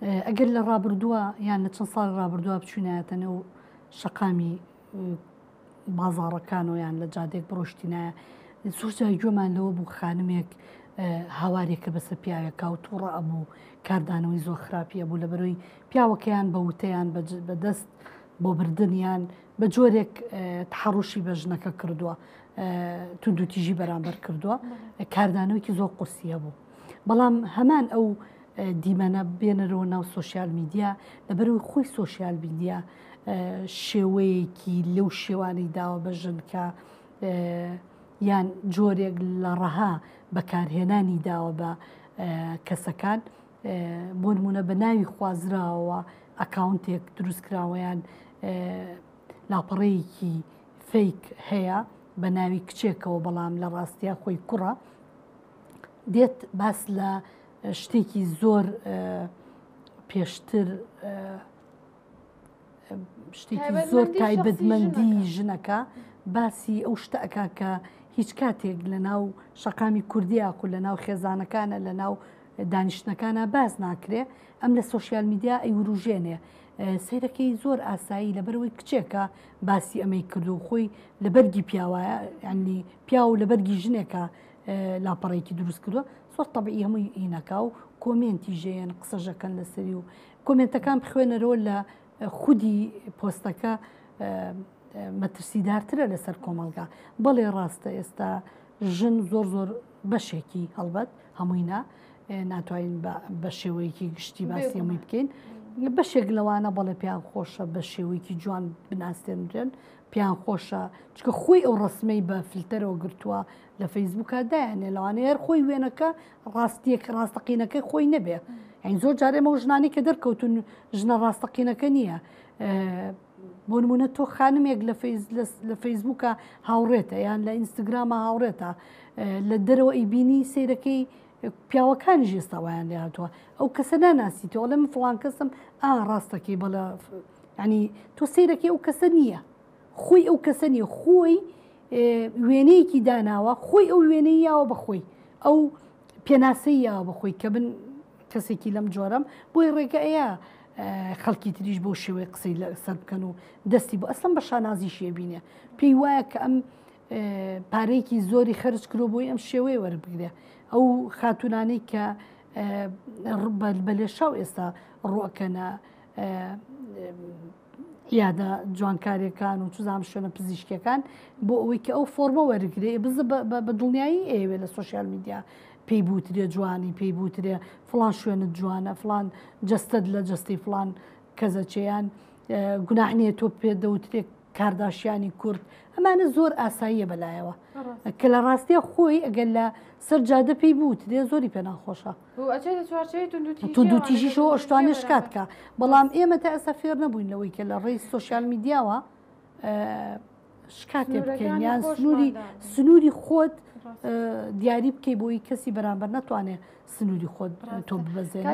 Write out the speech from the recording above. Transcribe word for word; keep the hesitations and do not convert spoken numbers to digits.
ئەگەر لە ڕابردووە یان لە چەند ساڵ ڕابردووە بچوینایەتە نێو شەقامی بازاڕەکانەوە یان لە جادێک بڕۆشتینایە، زۆر جار گوێمان لەوە بوو خانمێک هاوارێکە بەسەر پیاوێکا و تووڕە ئەبوو، کاردانەوەی زۆر خراپی ئەبوو لەبەرەوەی پیاوەکەیان بە وتەیان بەدەست بۆ بردنیان بە جۆرێک تەحەڕوشی بە ژنەکە کردووە، توندوتیژی بەرامبەر کردووە، کاردانەوەیکی زۆر قورسی هەبوو. بەڵام هەمان ئەو دیمەنە بێنەرەوە ناو social media، لەبەرەوەی خۆی social media شێوەیەکی لەو شێوانەی داوە بە ژن کە یان جۆرێک لە ڕەها بەکارهێنانی داوە بە کەسەکان، بۆ نمونە بە ناوی خوازراوە ئەکاونتێک دروستکراوەیان لاپەڕەیەکی fake هەیە بە ناوی کچێکەوە، بەڵام لە ڕاستیا خۆی کوڕە، دێت باس لە شتێکی زۆر پێشتر شتێکی زۆر تایبەتمەندی ژنەکە باسی ئەو شتە ئەکا کە هیچ کاتێک لە ناو شەقامی کوردیاکو لە ناو خێزانەکانە لە ناو دانیشتنەکانە باز ناکرێ، ئەم لە social media ئەیوروژێنێ. سەیرەکەی زۆر ئاسایی لەبەرەوەی کچێکە باسی ئەمەی کردو خۆی لە بەرگی پیاوایە، یعنی پیاو لە بەرگی ژنێکە لاپەڕێکی دروست کردووە، زۆر تەبعی هەمووی ئینەکا و کۆمێنتی ژێن قسەژەکەن لەسەری و کۆمێنتەکان بخوێنەرەوە لە خودی پۆستەکە مەترسیدارترە لەسەر کۆمەڵگا. بەڵێ ڕاستە ئێستا ژن زۆر زۆر بەشێکی هەڵبەت هەمووی نا، ناتوانین بە شێوەیەکی گشتی باسی هەمووی بکەین، بەشێک لەوانە بەڵێ پێیان خۆشە بە شێوەیەکی جوان بناسێنرێن، پێیان خۆشە چکە خۆی ئەو ڕسمەی بە فلتەرەوە گرتووە لە فەیسبووکە دایانێ، لەوانەیە هەر خۆی وێنەکە ڕاستیەک ڕاستەقینەکەی خۆی نەبێ. یعنی زۆر جارێ ئەو ژنانی کە دەرکەوتون ژنە ڕاستەقینەکە نییە. بۆ نمونە تۆ خانمێک لە فەیسبووکە هاوڕێتە یان لە ئینستاگرامە هاوڕێتە، لە دەرەوە ئەیبینی سەیرەکەی پیاوەکانیش ئێستا وایان لێ هاتووە، ئەو کەسە ناناسیتەوە، ئەڵێ من فڵان کەسم، ئا ڕاستەکەی بەڵێ، یعنی تۆ سەیرەکەی ئەو کەسە نییە، خۆی ئەو کەسە نییە، خۆی وێنەیەکی داناوە، خۆی ئەو وێنەی یاوە بە خۆی، ئەو پێناسەی یاوە بە خۆی کە من کەسێکی لەم جۆرەم، بۆی ڕێگە ئەیە خەڵکی تریش بۆ شێوەی قسەی لەسەر بکەن و دەستی بۆ ئەسڵەن بە شانازیشیە بینێ، پێی وایە کە ئەم پارەیەکی زۆری خەرج کرۆ بۆی ئەم شێوەیە وەربگرێ. ئەو خاتونانەی کە بە لێشاو ئێستا ڕوەکەنە یادە جوانکاریەکان و چزام شوێنە پزیشکیەکان بۆ ئەوەی کە ئەو فۆرمە وەرگرێ، بزە بە دڵنیایی ئەیەوێ لە social media پێی بوترێ جوانی، پێی بوترێ فڵان شوێنت جوانە، فڵان جەستەت لە جەستەی فڵان کەزەچێیان، گوناح نییە تۆ پێ دەوترێ کارداشیانی کورد، ئەمانە زۆر ئاساییە بەلایەوە کە لە ڕاستیە خۆی ئەگەر لە سەر جادە پێی بوترێ زۆری پێ ناخۆشە، توندوتیژیشەوە ئەشتوانێ شکات کە. بەڵام ئێمە تا ئێستا فێر نەبووین لەوەی کە لە ڕێی social media وە شکاتێ بکەین یان سنووری سنووری خۆت دیاری بکەی بۆی کەسی بەرامبەر نەتوانێت سنووری خۆت تۆ ببەزێنێ.